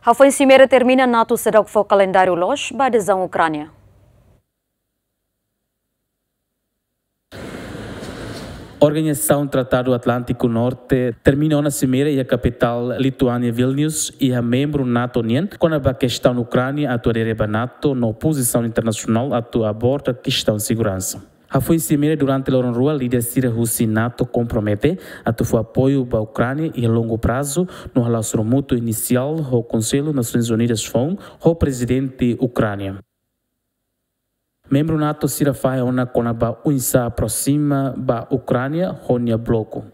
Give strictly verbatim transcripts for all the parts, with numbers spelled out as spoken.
Hafoin simeira termina, NATO seidauk fó kalendáriu loos ba adezaun Ukránia. Organizasaun Tratadu Atlántiku Norte termina ona simeira iha kapitál Lituánia, Vilnius, iha membru NATO nian, kona-ba kestaun Ukránia atu adere ba NATO no pozisaun internasionál atu aborda kestaun seguransa. Hafoin simeira durante loron rua, líder sira husi NATO kompromete atu fó apoiu ba Ukránia iha longu prazu, no hala'o sorumutu inisiál ho Konsellu Nasoins Unidas foun ho prezidente Ukránia. Membru NATO sira fahe ona kona-ba oinsá aproxima ba Ukránia ho nia bloku.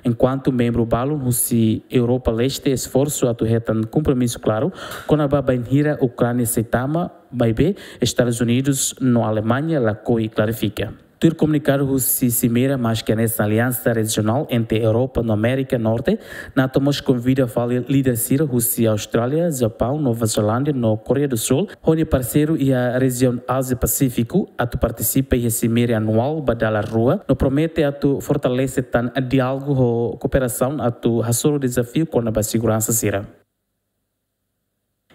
Enkuantu membru balun husi Europa Leste esforsu atu hetan kompromisu klaru kona-ba bainhira Ukránia sei tama, maibé Estadus Unidus no Alemaña lakohi klarifika. Tuir komunikadu husi simeira, maski hanesan aliansa rejionál entre Europa no Amérika Norte, NATO mós konvida fali líder sira husi Austrália, Japaun, Nova Zelándia no Koreia do Sul, ho nia parseiru iha rejiaun Ázia Pasífiku, atu partisipa iha simeira anuál ba dalan rua, no promete atu fortalese tan diálogu ho kooperasaun atu hasoru dezafiu kona-ba seguransa sira.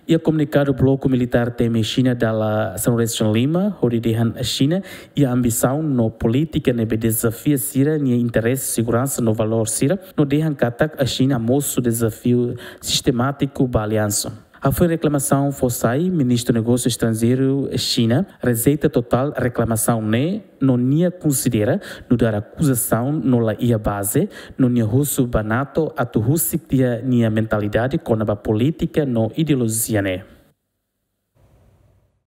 Iha komunikadu, bloku militár temi Xina dala sanulu-resin-lima, hodi dehan Xina iha ambisaun no polítika ne'ebé dezafia sira-nia interese, seguransa no valór sira, no dehan katak Xina mosu dezafiu sistemátiku ba aliansa. Hafoin reklamasaun fó sai, Ministru Negósiu Estranjeiru Xina rejeita totál reklamasaun ne'e, no nia konsidera nu'udar akuzasaun no la iha baze, no nia husu ba NATO atu husik tiha nia mentalidade kona-ba polítika no ideolojia ne'e.